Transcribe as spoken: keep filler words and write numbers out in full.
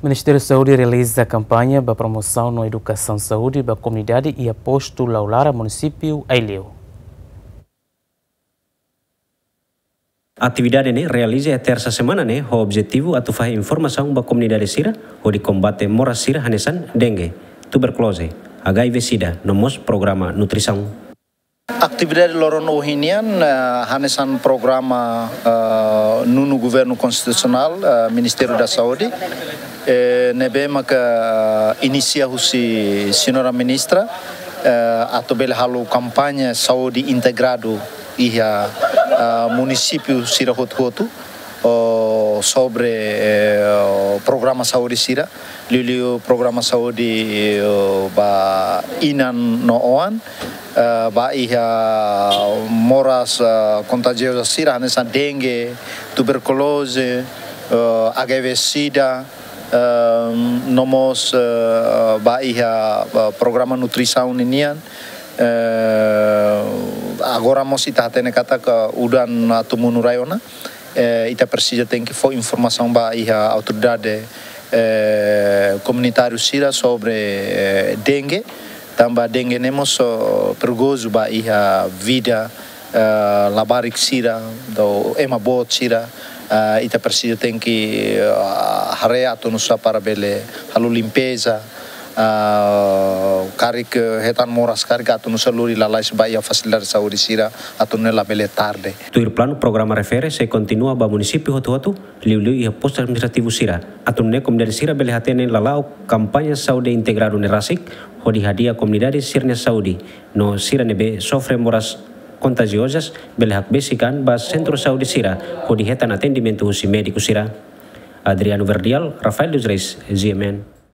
Ministériu Saúde realiza kampaña ba promosaun no edukasaun saúde ba komunidade iha postu Laulara, munisípiu Aileu. Atividade ne'e realiza iha tersa semana ne'e ho objetivu atu fahe informasaun ba komunidade sira hodi kombate moras sira hanesan dengue, tuberkuloze, H I V sida, no mós programa nutrisaun. Atividade loron ohin nian, eh, hanesan programa, eh, nonu Governu Konstitusionál, eh, Ministériu da Saúde, eh, ne'ebé maka inisia husi Señora Ministra, eh, atu bele halo kampaña saúde integradu iha, eh, munisípiu sira hotu-hotu, oh, sobre, eh, programa saúde sira, liuliu programa saúde, eh, ba inan no oan, eh, ba iha moras, eh, kontajioza sira, hanesan dengue, tuberkuloze, eh, H I V sida, eh, no mós, eh, ba iha, eh, programa nutrisaun ninian, eh, agora mós ita hatene katak udan atu monu rai ona, eh, ita presiza tenke fó informasaun ba iha autoridade, eh, komunitáriu sira sobre, eh, dengue, tanba dengue ne'e mós, oh, perigozu ba iha vida, eh, labarik sira, no ema boot sira, eh, ita presiza tenke, eh, haree atu nu'usá para bele halo limpeza, ah, karik, eh, hetan moras karik atu nu'usá lori lalais ba iha fasilidade saúde sira atu nune'e labele tarde. Tuir planu programa refere sei kontinua ba munisípiu hotu-hotu, liuliu iha postu administrativu sira. Atu nune'e komunidade sira bele hatene lala'ok kampaña saúde integradu ne'e rasik, hodi hadi'a komunidade sira-nia saúde, no sira ne'ebé sofre moras kontajiozas bele hakbesik an ba sentru saúde sira, hodi hetan atendimentu husi médiku sira. Adriano Verdial, Rafael dos Reis, G M N.